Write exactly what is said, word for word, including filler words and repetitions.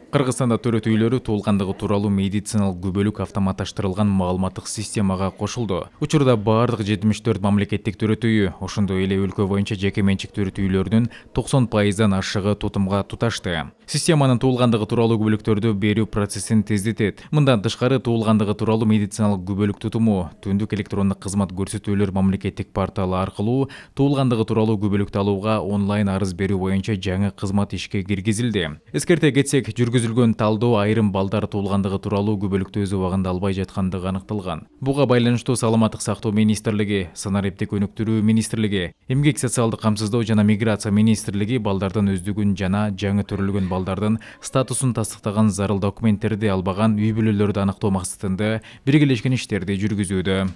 Кыргызстанда төрөт үйлөрү туулгандыгы тууралуу медициналык күбөлүк автоматташтырылган маалыматтык системага кошулду. Учурда бардык жетимиш төрт мамлекеттик төрөт үйү, ошондой эле өлкө боюнча жеке менчик төрөт үйлөрүнүн токсон пайыздан ашыгы тутумга туташты. Системанын туулгандыгы тууралуу күбөлүктөрдү берүү процессин тездетет. Мындан тышкары туулгандыгы тууралуу медициналык күбөлүк тутуму түндүк электрондук кызмат көрсөтүүлөр мамлекеттик порталы аркылуу туулгандыгы тууралуу күбөлүктү алууга онлайн арыз берүү боюнча жаңы кызмат ишке киргизилди. Эскерте кетсек, жүргүзүлгөн талдоо айрым балдар туулгандыгы тууралуу күбөлүктү өз убагында албай жаткандыгы аныкталган. Буга байланыштуу Саламаттык сактоо министрлиги, санариптик өнүктүрүү министрлиги, эмгек социалдык камсыздоо жана миграция министрлиги балдардын өздүгүн жана жаңы төрөлгөн балдардын статусун тастыктаган зарыл документтерди албаган үй бүлөлөрдү аныктоо максатында биргелешкен иштерди жүргүзүүдө.